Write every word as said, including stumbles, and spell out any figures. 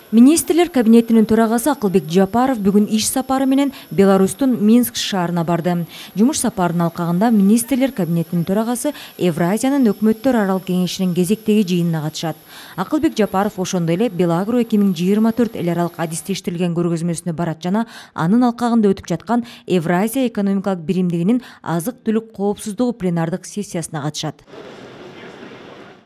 Министрлер кабинетинин төрагасы Акылбек Жапаров бүгүн иш сапары менен Беларустун Минск шаарына барды. Жумуш сапарынын алкагында министрлер кабинетинин төрагасы Евразиянын өкмөттөр аралык кеңешинин кезектеги жыйынына катышат. Акылбек Жапаров ошондой эле Белагро эки миң жыйырма төрт эл аралык адистештирилген көргөзмөсүнө барат жана анын алкагында өтүп жаткан Евразия экономикалык биримдигинин азык-түлүк коопсуздугу пленардык сессиясына катышат.